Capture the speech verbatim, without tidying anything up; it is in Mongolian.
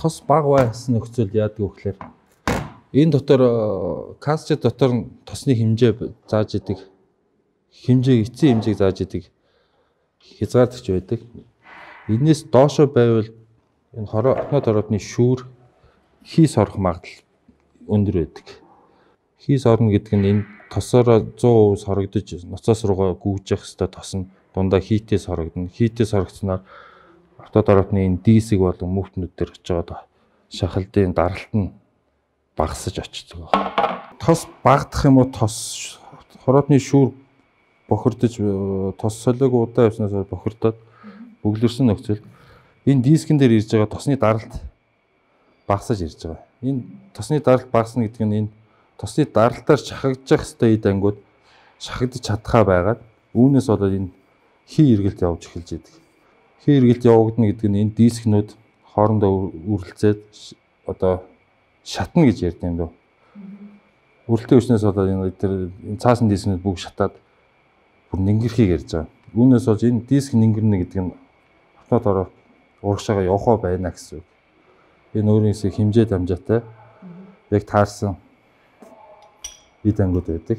тос баг байсан нөхцөл яадаг вэ гэхээр энэ дотор касчет дотор тосны хэмжээ зааж идэг хэмжээ эцсийн хэмжээг зааж идэг хязгаарлагдж байдаг. Энээс доошо байвал энэ хотнод ородны шүүр хийс орох магадлал өндөр байдаг. Хийс орно гэдэг нь энэ тосороо сто процент хорогдож ноцоос руугаа гүйж явах хэвээр тос нь дундаа хийтээс хорогдно. Хийтээс хорогдсноор хотнод ородны энэ дисэг болон мөвтнүүд дээр очиод шахалдын даралт нь багасж очдог. Тос багдах юм уу тос хорооны шүүр бохирдож тос солиог удаа явснаас бохирдоод бөглөрсөн нөхцөл энэ дискэн дээр ирж байгаа тосны даралт багасж ирж байгаа. Энэ тосны даралт багасна гэдэг нь энэ тосны даралтаар шахагдчих хэвээр эд ангууд шахагдаж чадхаа байгаад үүнээс болоод энэ хий эргэлт явж эхэлж идэг. Хий эргэлт явагдана гэдэг нь энэ дискнүүд хоорондоо үргэлцээд одоо шатна гэж ярьд юм дөө. Үрэлтийн хүчнээс болоод энэ тэр цаасан дискнүүд бүгд шатаад бүр нингэрхийг ярьж байгаа. Үүнээс болж энэ диск нингэрнэ гэдэг нь хотнод ороо урагшаага явах байна гэсэн үг. Энэ өөрөөсөө хэмжээ дамжаатай яг таарсан эд ангууд байдаг.